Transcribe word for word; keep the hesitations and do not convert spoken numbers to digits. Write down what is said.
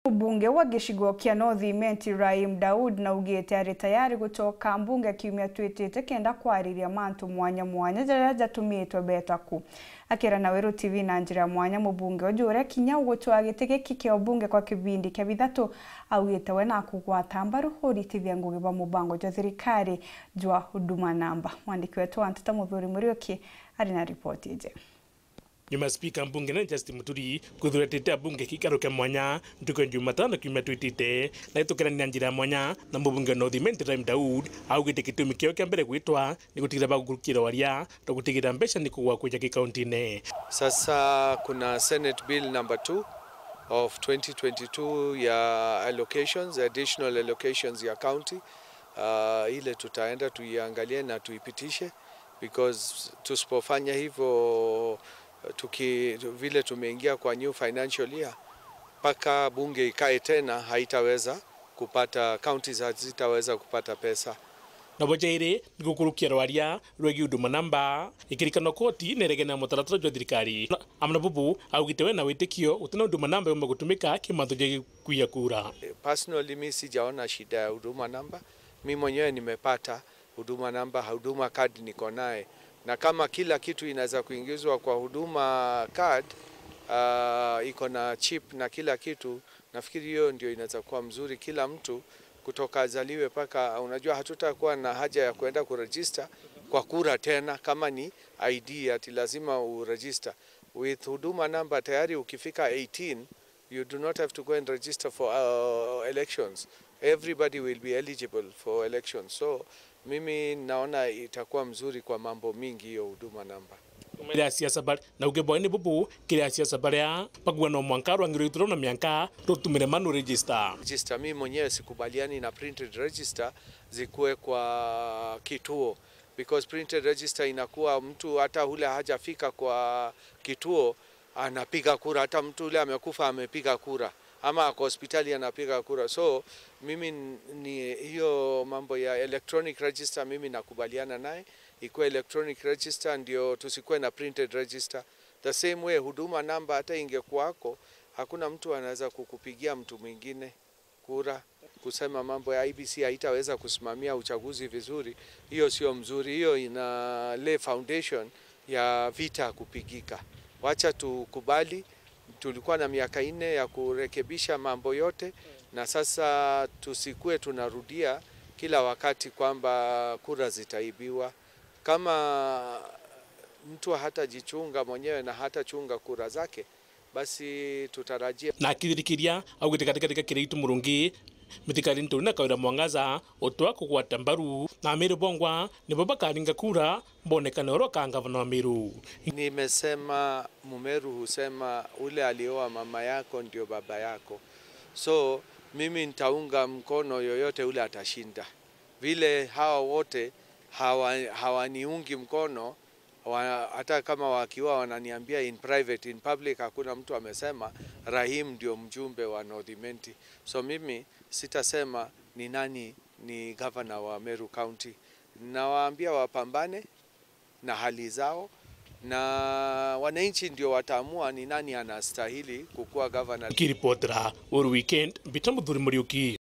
Mbunge wa gicigo kia North Imenti, Rahim Daud, naugite ari tayari gucoka mbunge kiumia twitite kenda kwariria mantu mwanya mwanya jaria jatumitwe beta ku. Akira na Weru T V na njira ya mwanya, mubunge uju uria kinya ugutwaa giti giki kia ubunge kwa kibindi kia bithatu, augite we nakugwata mbaru uritithia ngugi bwa mubango jwa thirikari jwa Huduma Namba. Mwandiki wetu wa nteto Muthuri Muriuki ari na ripoti iji. Nyuma ya spika mbunge nene Justin Muturi kwithuratite abunge kikaro kia mwanya ntuku ya Jumatano kiumia twitite, na itukirania na njira ya mwanya na mubunge wa North Imenti Rahim Daud, augite gitumi kiao kia mbere gwitwa ni gutigira bagukurukira waria na gutigira mbeca ni kugwa kuja gikaunti-ini. Sasa kuna Senate Bill number two of twenty twenty-two ya allocations, additional allocations ya county, ah, ile tutaenda tuiangalie na tuipitishe, because tusipofanya hivyo, tuki-, vile tumeingia kwa new financial year, mpaka bunge ikae tena, haitaweza kupata, counties hazitaweza kupata pesa. Nabo jairi ni gukurukia rwaria rwegii Huduma Namba, ikirikano koti neregene na mutaratara jwa thirikari. Amwe na bubu augite we na witikio gutina Huduma Namba yumba gutumika ki mantu ja gikuia kura. Personally, mi sijaona shida ya Huduma Namba. Mi mwenyewe nimepata Huduma Namba, Huduma Card niko naye. Na kama kila kitu inaweza kuingizwa kwa Huduma Card, ah, iko na chip na kila kitu, nafikiri hiyo ndio inaweza kuwa mzuri. Kila mtu kutoka azaliwe paka, unajua, hatutakuwa na haja ya kuenda kuregister kwa kura tena kama ni I D ati lazima uregister. With Huduma Namba tayari ukifika eighteen, you do not have to go and register for, uh, elections. Everybody will be eligible for elections. So, mimi naona itakuwa mzuri kwa mambo mingi hiyo Huduma Namba. Kiri asiasa bari-, na uge bwawe ni bubu, kiri asiasa baria bakuga no mwanka rwang'i rwa itura na mianka rutumire manual register. Register, mimi mwenyewe sikubaliani na printed register zikuwe kwa kituo, because printed register inakuwa mtu hata ule hajafika kwa kituo anapiga kura, hata mtu ule amekufa amepiga kura, ama ako hospitali anapiga kura. So mimi n-, ni hiyo mambo ya electronic register mimi nakubaliana naye, ikuwe electronic register ndio tusikuwe na printed register. The same way Huduma Namba hata ingekuwako, hakuna mtu anaweza kukupigia mtu mwingine kura, kusema mambo ya I B C haitaweza kusimamia uchaguzi vizuri, hiyo sio mzuri. Hiyo ina lay foundation ya vita kupigika. Wacha tukubali, tulikuwa na miaka nne ya kurekebisha mambo yote, na sasa tusikue tunarudia kila wakati kwamba kura zitaibiwa. Kama mtu hatajichunga mwenyewe na hatachunga kura zake, basi tutarajie. Na akithirikiria, augite katikati ka Kiraitu Murungi, Mithika Linturi na Kawira Mwangaza utwa kugwata mbaru, na Amiru bongwa nibo bakaringa kura bonekane oro ka ngavana wa Meru. Nimesema, Mumeru husema, "Ule alioa mama yako ndio baba yako." So mimi nitaunga mkono yoyote ule atashinda. Vile hawa wote hawa-, hawaniungi mkono, wa-, hata kama wakiwa wananiambia in private, in public hakuna mtu amesema Rahim ndio mjumbe wa North Imenti. So mimi sitasema ni nani ni governor wa Meru County. Nawaambia wapambane na hali zao, na wananchi ndio wataamua ni nani anastahili kukuwa governor. Kiripotera Uru Weekend, Mbita Muthuri Muriuki.